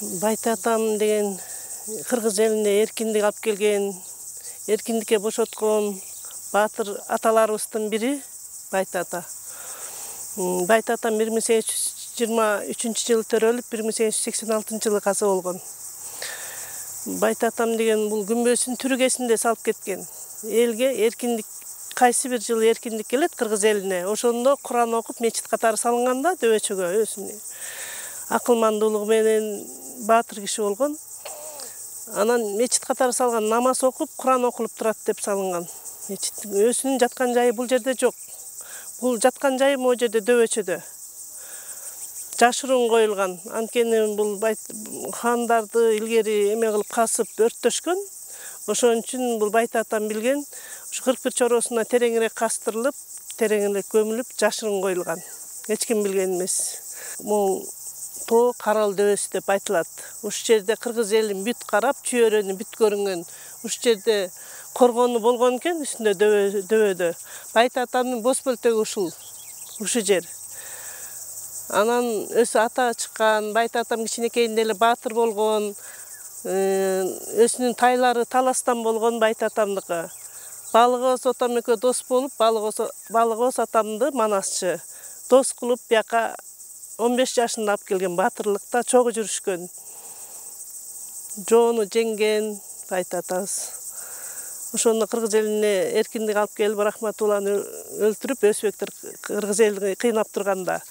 Байтатам деген кыргыз элине эркиндик алып келген, эркиндикке бошоткон баатыр аталарыбыздын бири Байтата. Байтатам 1823-жылы төрөлүп, 1886-жылы каза болгон. Байтатам деген бул күмбөздүн түрүгесинде салып кеткен. Элге эркиндик кайсы бир жылы эркиндик келет кыргыз элине. Ошондо Куран окуп мечит катары салынганда дөбөчөгө өзүнүн акылмандуулугу менен баатыр киши болгон. Анан мечит катары салган, намаз окуп, Куран окулуп турат деп салынган. Мечиттин өзүнүн жаткан жайы бул жерде жок. Бул жаткан жайы могу жерде дөбөчөдө. Жашыруун коюлган. Анткени бул хандарды илгери эме кылып касып өрттөшкөн. Ошон үчүн бул Байтатам билген, ушу 41 чоросуна тереңирээк кастырылып, тереңирээк көмүлүп, жашыруун коюлган. Эч ким билген эмес. Могу тоо Карал дөбөсү деп айтылат. Ушул жерде кыргыз элин бүт карап, чүйөрөнү бүт көрүнгөн. Ушул жерде коргону болгон экен үстүндө дөбөдө. Байтатамдын бос бөлтөгү ушул жер. Анан өзү ата чыккан, Байтатам кичинекейинде эле баатыр болгон. Өзүнүн тайлары таластан болгон Байтатамдыкы. Балыгыбыз отам экөө дос болуп, Балыгыбыз атамды манасчы. Дос кылып, бияка 15 жашында алып келген, баатырлыкта чогуу жүрүшкөн. Жоону жеңген Байтатабыз. Ошондо кыргыз элине эркиндик алып келип, Рахматулланы өлтүрүп, өзбектер кыргыз элди кыйнап турганда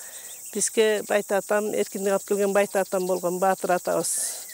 бизге Байтатам эркиндик алып келген Байтатам болгон баатыр атабыз.